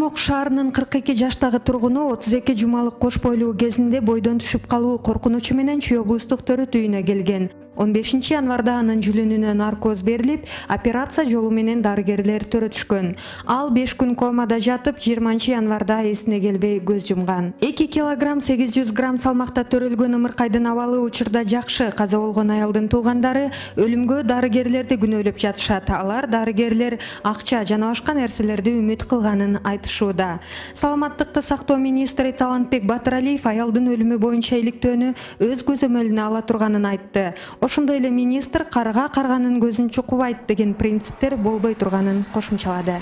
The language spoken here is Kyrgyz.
Кызылмок шаарынын 42 жаштагы тургуну 32 жумалык кош бойлуу кезинде бойдон түшүп калуу коркунучу менен Чүй облустук төрөт үйүнө келген. 15 январда анын жүлүнүнө наркоз берилип, операция жолу менен дарыгерлер төрөтүшкөн. Ал 5 күн комада жатып, 20 январда эсине келбей көз жумган. 2 килограмм 800 грамм салмакта төрөлгөн Ымыркайдын абалы учурда жакшы. Каза болгон аялдын туугандары өлүмгө дарыгерлерди күнөөлөп жатышат. Алар дарыгерлер акча жана башка нерселерди үмүт кылганын айтышууда. Саламаттыкты сактоо министри Талантбек Батыралиев аялдын өлүмү боюнча иликтөөнү өз көзөмөлүнө ала турганын айтты. Ошондой эле министр карга карганын көзүн чукубайт деген принциптер болбой турганын кошумчалады.